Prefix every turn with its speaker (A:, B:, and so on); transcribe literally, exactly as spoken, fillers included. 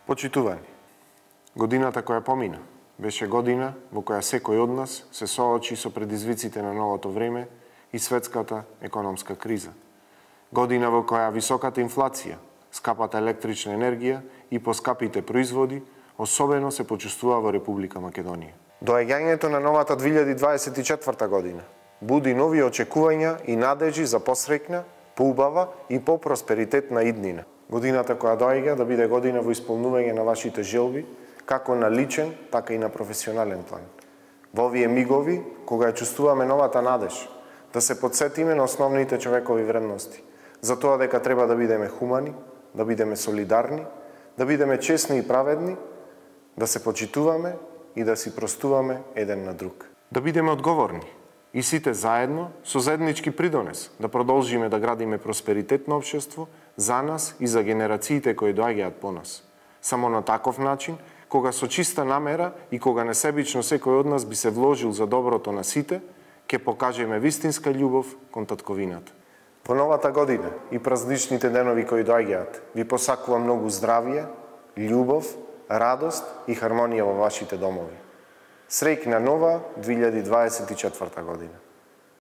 A: Почитувани, годината која помина беше година во која секој од нас се соочи со предизвиците на новото време и светската економска криза. Година во која високата инфлација, скапата електрична енергија и поскапите производи особено се почувствува во Република Македонија. Доаѓањето на новата две илјади дваесет и четврта година буди нови очекувања и надежи за посреќна, поубава и попросперитетна иднина. Годината која доаѓа да биде година во исполнување на вашите желби, како на личен, така и на професионален план. Во овие мигови, кога ја чувствуваме новата надеж, да се подсетиме на основните човекови вредности, за тоа дека треба да бидеме хумани, да бидеме солидарни, да бидеме честни и праведни, да се почитуваме и да си простуваме еден на друг. Да бидеме одговорни и сите заедно со заеднички придонес да продолжиме да градиме просперитетно општество за нас и за генерациите кои доаѓаат по нас. Само на таков начин, кога со чиста намера и кога несебично секој од нас би се вложил за доброто на сите, ќе покажеме вистинска љубов кон татковината. Во новата година и празничните денови кои доаѓаат, ви посакувам многу здравје, љубов, радост и хармонија во вашите домови. Среќна нова две илјади дваесет и четврта година.